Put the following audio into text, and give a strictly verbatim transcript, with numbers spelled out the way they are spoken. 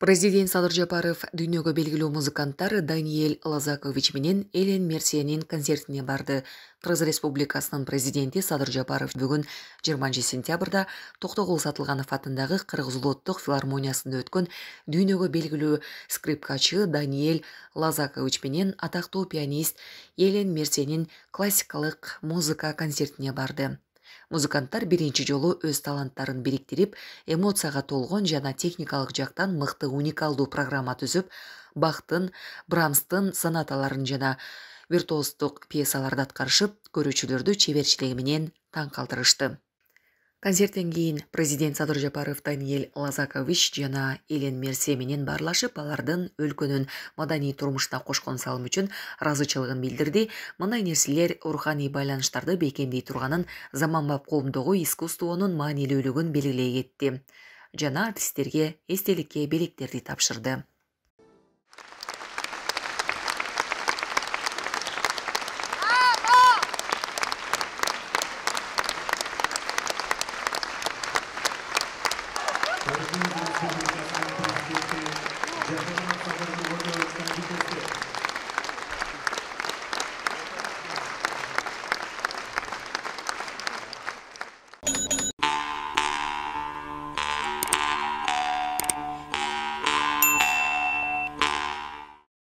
Президент Садыр Жапаров дүйнөгө белгилүү музыканттар Даниэль Лазакович менен Элен Мерсиянин концертине барды. Кыргыз Республикасынын президенти Садыр Жапаров бүгүн жыйырманчы сентябрда Токтогул Сатылганов атындагы Кыргыз улуттук филармониясында өткөн дүйнөгө белгилүү скрипкачы Даниэль Лазакович менен атактуу пианист Элен Мерсиянин классикалык музыка концертине барды. Музыканттар биринчи жолу өз таланттарын бириктирип, эмоцияга толгон жана техникалык жактан мыкты уникалдуу программа түзүп, Бахтын, Брамстын сонаталарын жана виртуоздук пьесаларды аткарышып, көрүүчүлөрдү чеберчилиги менен таң калтырышты. Концерттен кийин президент Садыр Жапаров Даниэль Лазакович жана Элен Мерсия менен баарлашып, алардын өлкөнүн маданий турмушуна кошкон салымы үчүн ыраазычылыгын билдирди. Мындай нерселер руханий байланыштарды бекемдей турганын, заманбап коомдогу искусствонун маанилүүлүгүн белгилей кетти жана артисттерге эстеликке белектерди тапшырды.